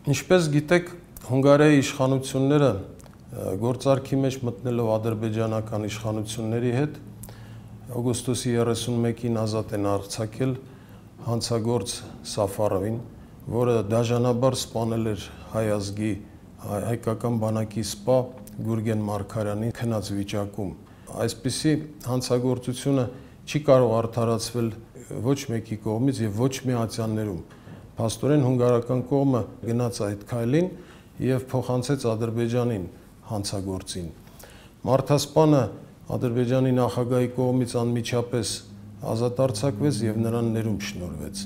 Ինչպես գիտեք, Հունգարիայի իշխանությունները գործարքի մեջ մտնելով ադրբեջանական իշխանությունների հետ օգոստոսի 31-ին ազատ են արձակել հանցագործ Սաֆարովին, որը դաժանաբար սպանել էր հայ ազգի հայկական բանակի սպա Գուրգեն Մարգարյանին քնած վիճակում։ Այսպիսի հանցագործությունը չի կարող արդարացվել ոչ մեկի կողմից եւ ոչ մի ատյաններում։ Փաստորեն հունգարական կողմը գնաց այդ քայլին եւ փոխանցեց Ադրբեջանին հանցագործին։ Մարդասպանը Ադրբեջանի նախագահի կողմից անմիջապես ազատ արձակվեց եւ նրան ներում շնորհվեց։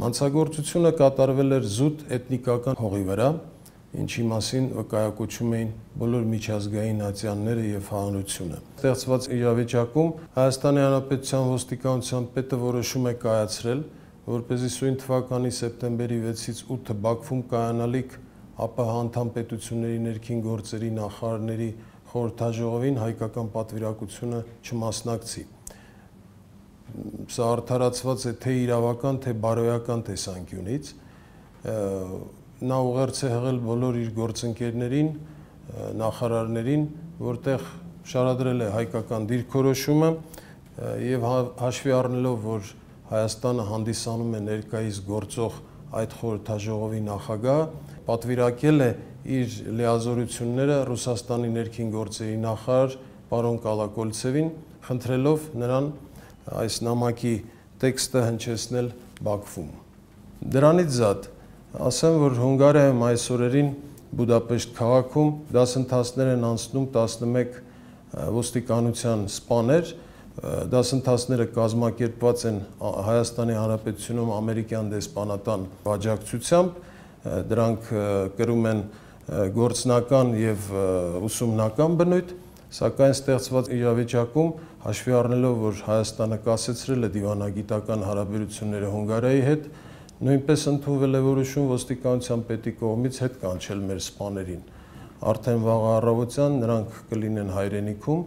Հանցագործությունը կատարվել էր զուտ էթնիկական հողի վրա, ինչի մասին վկայակոչում էին բոլոր միջազգային ատյանները եւ հանրությունը։ Ստեղծված իրավիճակում Հայաստանի Հանրապետության ոստիկանության պետը որոշում է կայացրել, որպեսզի սույն թվականի սեպտեմբերի 6-ից 8-ը Բաքվում կայանալիք ԱՊՀ անդամ պետությունների ներքին գործերի նախարարների խորհրդաժողովին հայկական պատվիրակությունը չմասնակցի։ Սա արդարացված է թե իրավական, թե բարոյական տեսանկյունից։ Նա ուղերձ է հղել բոլոր իր գործընկերներին, նախարարներին, որտեղ շարադրել է հայկական դիրքորոշումը եւ հաշվի առնելով, որ Հայաստանը հանդիսանում է ներկայիս գործող այդ խորհրդաժողովի նախագահ, պատվիրակել է իր լիազորությունները Ռուսաստանի ներքին գործերի նախարար պարոն Կալակոլցևին, խնդրելով նրան այս նամակի տեքստը հնչեցնել Բաքվում։ Դրանից զատ ասեմ, որ Հունգարիայում այս օրերին Բուդապեշտ քաղաքում դասընթացներ են անցնում 11 ոստիկանության սպաներ, դասընթացները կազմակերպված են Հայաստանի Հանրապետությունում ամերիկյան դեսպանատան աջակցությամբ, դրանք կրում են գործնական եւ ուսումնական բնույթ, սակայն ստեղծված իրավիճակում հաշվի առնելով, որ Հայաստանը կասեցրել է դիվանագիտական հարաբերությունները Հունգարիայի հետ, նույնպես ընդունվել է որոշում ոստիկանության պետի կողմից հետ կանչել մեր սպաներին։ Արդեն վաղ առավոտյան նրանք կլինեն հայրենիքում